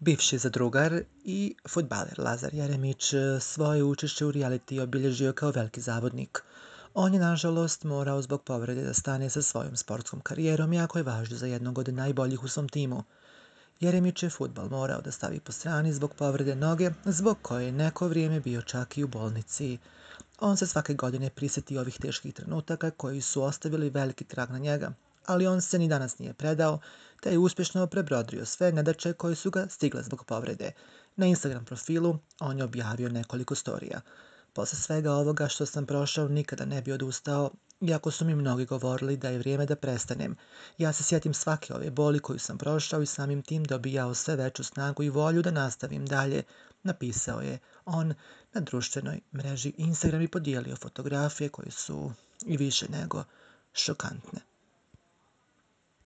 Bivši zadrugar i fudbaler Lazar Jeremić svoje učešće u reality obilježio kao veliki zavodnik. On je, nažalost, morao zbog povrede da stane sa svojom sportskom karijerom, iako je važio za jednog od najboljih u svom timu. Jeremić je fudbal morao da stavi po strani zbog povrede noge, zbog koje je neko vrijeme bio čak i u bolnici. On se svake godine prisjeti ovih teških trenutaka koji su ostavili veliki trag na njega, ali on se ni danas nije predao, te je uspješno prebrodrio sve nedaće koje su ga stigle zbog povrede. Na Instagram profilu on je objavio nekoliko storija. Posle svega ovoga što sam prošao nikada ne bi odustao, iako su mi mnogi govorili da je vrijeme da prestanem. Ja se sjetim svake ove boli koju sam prošao i samim tim dobijao sve veću snagu i volju da nastavim dalje, napisao je on na društvenoj mreži Instagram i podijelio fotografije koje su i više nego šokantne.